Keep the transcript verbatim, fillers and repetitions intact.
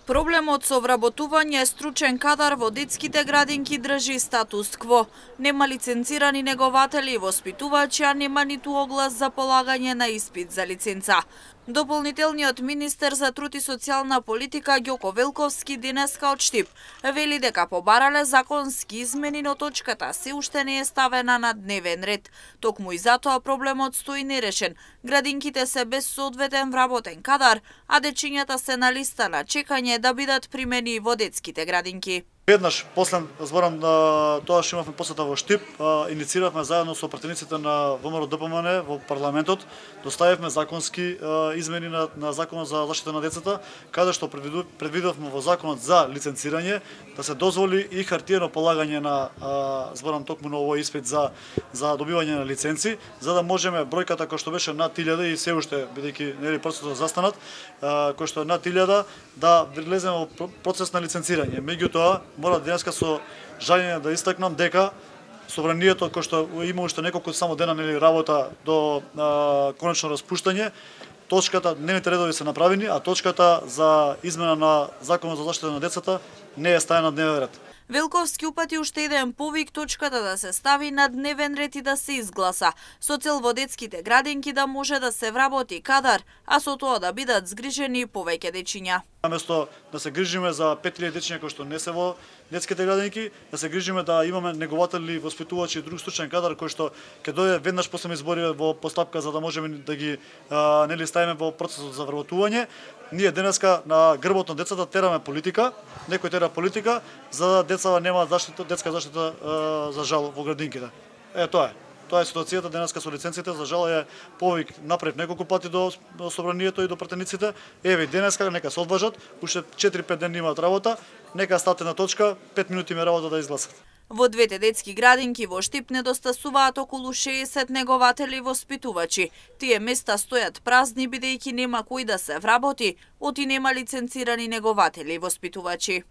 Проблемот со вработување стручен кадар во детските градинки држи статус кво. Нема лиценцирани негователи и воспитувачи, а нема ниту оглас за полагање на испит за лиценца. Дополнителниот министер за труд и социјална политика Ѓоко Велковски денеска од Штип вели дека побарале законски измени, но точката се уште не е ставена на дневен ред. Токму и затоа проблемот стои нерешен. Градинките се без соодветен вработен кадар, а дечињата се на листа на чекање да бидат примени во детските градинки. Еднаш, после зборам на тоа што имавме посета во Штип, иницииравме заедно со пратениците на ВМРО-ДПМН во парламентот, доставивме законски измени на, на Законот за заштита на децата, каде што предвидовме во Законот за лиценцирање да се дозволи и хартиено полагање на, зборам токму на овој испит за, за добивање на лиценци, за да можеме бројката која што беше над илјада и се уште, бидејќи нели процесот застанат, кој што е над илјада, да влеземе во процес на лиценцирање. Меѓутоа, мора денеска со жалење да истакнам дека собранието кој што има уште неколку само дена нели работа до а, конечно распуштање, точката, дневните редови се направени, а точката за измена на Законот за заштита на децата не е ставена на дневен ред. Велковски упати уште еден повик точката да се стави на дневен ред и да се изгласа, со цел во детските градинки да може да се вработи кадар, а со тоа да бидат згрижени повеќе дечиња. Наместо да се грижиме за пет илјади дечиња кои што не се во детските градинки, да се грижиме да имаме негователи, воспитувачи и друг стручен кадар кој што ќе дојде веднаш после избори во постапка за да можеме да ги а, нели ставиме во процесот за вработување. Ние денеска на грбот на децата тераме политика, некој тера политика за да децата нема заштита, детска заштита а, за жал во градинките. Е тоа е. Тоа е ситуацијата денеска со лиценците, за жал е повик направив неколку пати до собранието и до пратениците. Еве денеска нека се одважат, уште четири-пет дена имаат работа, нека стате на точка, пет минути ме работа да изгласат. Во двете детски градинки во Штип недостасуваат околу шеесет негователи и воспитувачи. Тие места стојат празни бидејќи нема кој да се вработи, оти нема лиценцирани негователи и воспитувачи.